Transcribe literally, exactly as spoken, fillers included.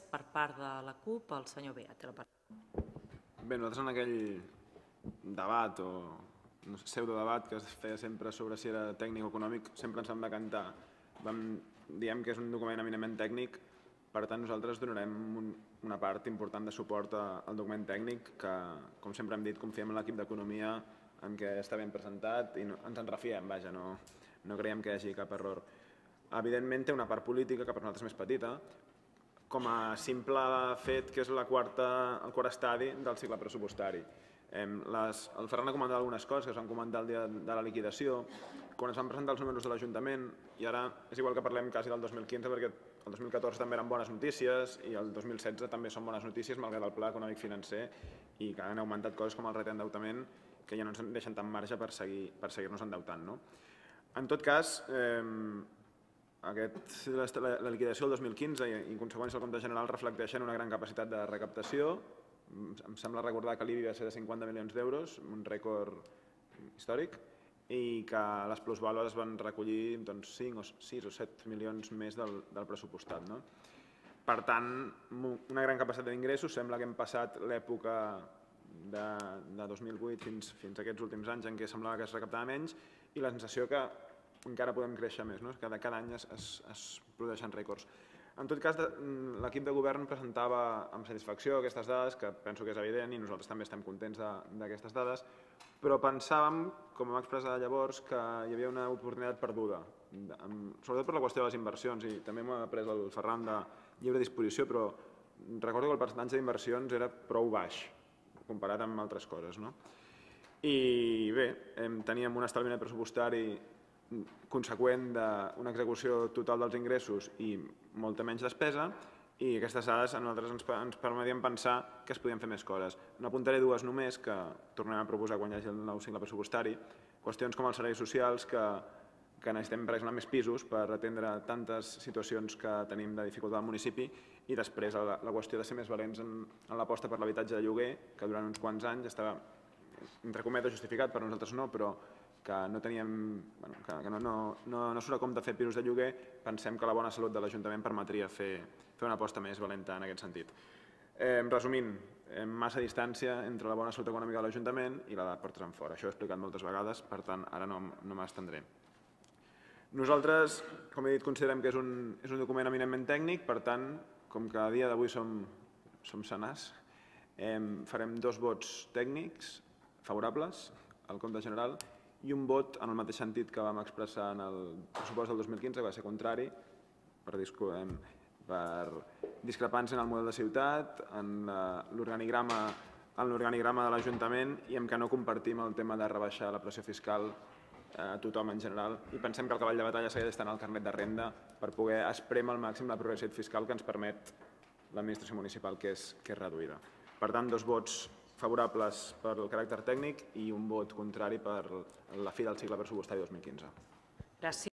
per part de la CUP, el senyor Bea. Bé, nosaltres en aquell debat o pseudodebat que es feia sempre sobre si era tècnic o econòmic, sempre ens vam decantar. Diem que és un document eminentment tècnic, per tant nosaltres donarem una part important de suport al document tècnic que, com sempre hem dit, confiem en l'equip d'Economia en què està ben presentat i ens en refiem, vaja, no creiem que hi hagi cap error. Evidentment té una part política que per nosaltres és més petita, com a simple fet que és el quart estadi del cicle pressupostari. El Ferran ha comentat algunes coses que es van comentar el dia de la liquidació, quan es van presentar els números de l'Ajuntament, i ara és igual que parlem quasi del dos mil quinze perquè el dos mil catorze també eren bones notícies i el dos mil setze també són bones notícies malgrat el pla econòmic financer i que han augmentat coses com el reendeutament que ja no ens deixen tant marge per seguir-nos endeutant. En tot cas, la liquidació del dos mil quinze i en conseqüència el compte general reflecteixen una gran capacitat de recaptació. Em sembla recordar que l'I B I va ser de cinquanta milions d'euros, un rècord històric, i que les plusvàlues es van recollir cinc, sis o set milions més del pressupostat. Per tant, una gran capacitat d'ingressos. Sembla que hem passat l'època de dos mil vuit fins a aquests últims anys en què semblava que es recaptava menys i la sensació que encara podem créixer més, que cada any es produeixen rècords. En tot cas, l'equip de govern presentava amb satisfacció aquestes dades, que penso que és evident i nosaltres també estem contents d'aquestes dades, però pensàvem, com vam expressar llavors, que hi havia una oportunitat perduda, sobretot per la qüestió de les inversions, i també m'ha pres el Ferran de lliure disposició, però recordo que el percentatge d'inversions era prou baix, comparat amb altres coses. I bé, teníem un establiment pressupostari conseqüent d'una execució total dels ingressos i molta menys despesa, i aquestes dades a nosaltres ens permetien pensar que es podien fer més coses. N'apuntaré dues només que tornem a proposar quan hi hagi el nou cicle pressupostari, qüestions com els serveis socials, que necessitem per exemple més pisos per atendre tantes situacions que tenim de dificultat al municipi, i després la qüestió de ser més valents en l'aposta per l'habitatge de lloguer, que durant uns quants anys estava, entre cometes, justificat, per nosaltres no, però que no teníem, que no surt a compte fer pisos de lloguer. Pensem que la bona salut de l'Ajuntament permetria fer una aposta més valenta en aquest sentit. Resumint, massa distància entre la bona salut econòmica de l'Ajuntament i la de portes enfora. Això ho he explicat moltes vegades, per tant, ara no m'estendré. Nosaltres, com he dit, considerem que és un document eminentment tècnic, per tant, com que a dia d'avui som senars, farem dos vots tècnics favorables al compte general i un vot en el mateix sentit que vam expressar en el pressupost del dos mil quinze, que va ser contrari, per discrepància en el model de ciutat, en l'organigrama de l'Ajuntament i en què no compartim el tema de rebaixar la pressió fiscal a tothom en general, i pensem que el cavall de batalla segueix estant el carnet de renda per poder esprémer al màxim la progressivitat fiscal que ens permet l'administració municipal, que és reduïda. Per tant, dos vots favorables per el caràcter tècnic i un vot contrari per la fi del cicle pressupostari dos mil quinze. Gràcies.